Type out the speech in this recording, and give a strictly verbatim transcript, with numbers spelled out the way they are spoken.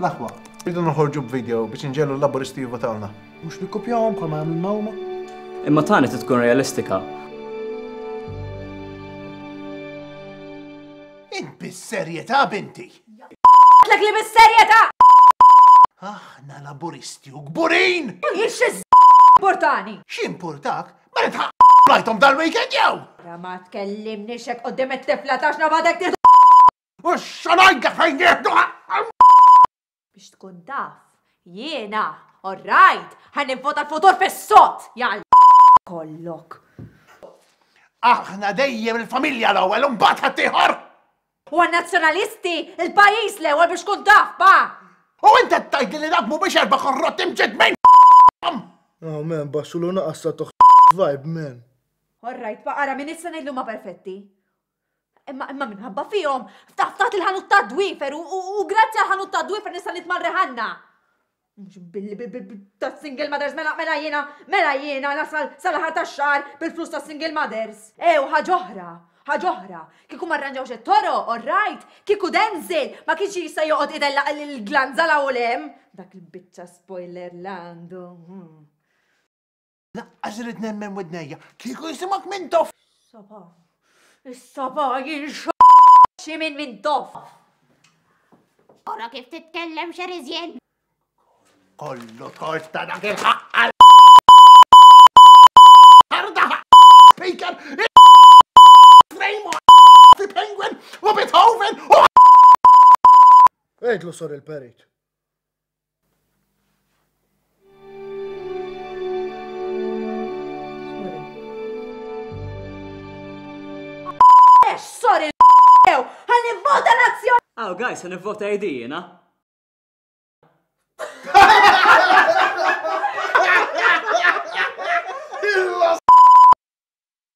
L-aħwa, rridu noħorġu b'video biex inġegħlu l-Laburisti jivvotawlna. Mhux nikkopjawhom bħalma jagħmlulna huma. Imma tani trid tkun realistika. Int bis-serjetà, binti! Għedtlek li bis-serjetà! Aħna Laburisti u kburin! Jien x'jimpurtani! X'impurtak? Ma nitħaq lajthom dal-weekend jew! Ra ma tkellimniex hekk quddiem it-tifla tax nabadek tieħdu. U x'ngħidlek fejn nieħdu! Biex tkun taf, jiena, all right, ħa nivvota l-futur fis-sod, jgħal kollok. Aħna dejjem il-familja l-ewwel u mbagħad ħaddieħor! U għan-nazzjonalisti, il-pajjiż l-ewwel biex tkun taf, pa! U inti tgħidli li dak mhumiex erba' korrotti mġedmin! Oh man, baxxulu naqas sa toħ vibe, man. All right, pa ara minn issa ngħidlu ma perfetti. Imma imma minħabba fihom, ftaħ ftaħt il-ħanut ta' dwifer u, u, u grazzi għal ħanut ta' dwifer nista' nitma' reħanna. Mhux billi ta' single mothers mela mela jiena mela jiena nasal sal-aħħar tax-xahar bil-flus ta' single mothers. E u ħaġa oħra, ħaġa oħra. Kieku ma rranġawx it-toroq, all right, kieku Denzel ma kienx jista' joqgħod idella l-glanza la u lem. Dak il-biċċa spoiler l-għandu. Hmm. Laqqas irrid nemmen widnejja, kieku jisimak Mintoff! Saba, is-saba jinx xi minn Mintoff. Ora kif titkellem xerizjen. Kollu tort ta' dak il-ħaqqa Arda Speaker, Frame fi Penguin u Beethoven u Għidlu sorry il-perit. Sorry, ħa nivvota nazzjon. Aw, guys, ħa nivvota A D jiena.